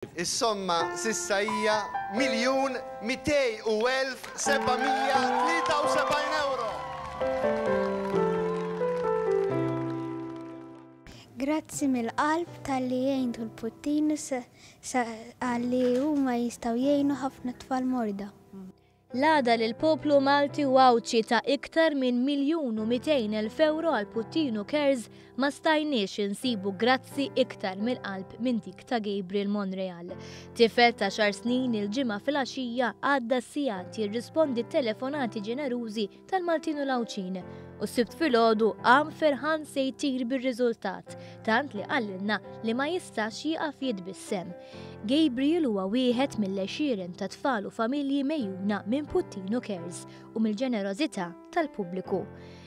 Is-somma s'issa hija 1,201,773 ewro. Grazzi mill-qalb talli għintu l-Puttinu għalli huma jistgħu jgħinu ħafna tfal morda. L-għada li l-poplu Malti u Għawdxi ta iktar minn 1,200,000 ewro għal Puttinu Cares ma stajniex insibu grazzi iktar mill-qalb minn dik ta' Gabriel Monreal. Tifel ta' xar snin il-Ġimgħa filgħaxija għadda sigħat jirrispondi t-telefonati ġenerużi tal-Maltin u l-Għawdxin u s-Sibt filgħodu qam ferħan se jtir bir-riżultat, tant li qalilna li ma jistax jieqaf jitbissem. Gabriel huwa wieħed mill-għexieren ta' tfal u familji megħjuna minn Puttinu Cares u mill-ġenerożità tal-pubbliku.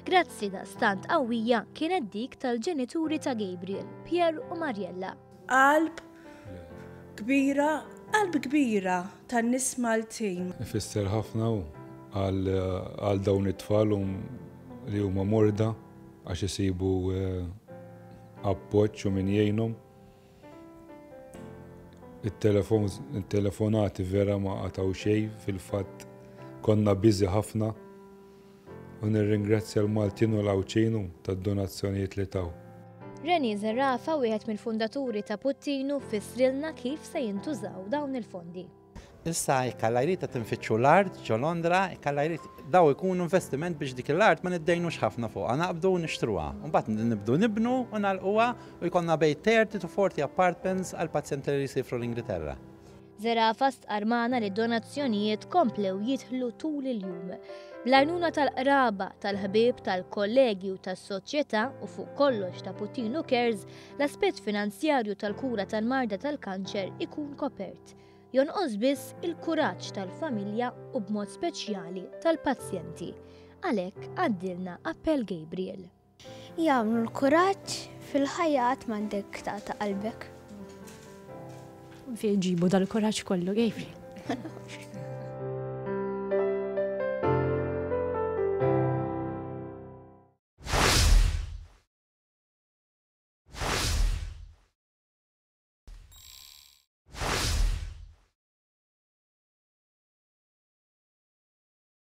Grazzi daqstant qawwija kienet dik tal-ġenituri ta' Gabriel, Pierre u Mariella. Qalb kbira, qalb kbira tan-nies Maltin. Ifisser ħafna hu għal dawn it-tfal li huma morda għax isibu appoġġ u min jgħinhom. It-telefonati vera ma qatgħu xejn, fil-fatt konna busy ħafna u nirringrazzja l-Maltin u l-Għawdxin tad-donazzjonijiet li taw. Rennie Zerafa, wieħed mill-fundaturi ta' Puttinu, fissrilna kif se jintużaw dawn il-fondi. Issa jekk Alla jrid qed infittxu l-art ġo Londra, jekk Alla jrid daw ikunu investiment biex dik l-art ma niddejnux ħafna fuqha, naqbdu u nixtruha. U mbagħad nibdu nibnu u nagħlquha u jkollna bejn 30 to 40 apartments għall-pazjenti li jsifru l-Ingilterra. Zerafa stqarr magħna li d-donazzjonijiet komplew jidħlu tul il-jum. Bl-għajnuna tal-qraba, tal-ħbieb, tal-kollegi u tas-soċjetà u fuq kollox ta' Puttinu Cares, l-aspett finanzjarju tal-kura tal-marda tal-kanċer ikun kopert. Jonqos biss il-kuraġġ tal-familja u b'mod speċjali tal-pazjenti. Għalhekk għaddilna appell Gabriel. Jagħmlu l-kuraġġ fil-ħajja qatt m'għandek taqta' qalbek. Fejn ġibu dal-kuraġġ kollu, Gabriel?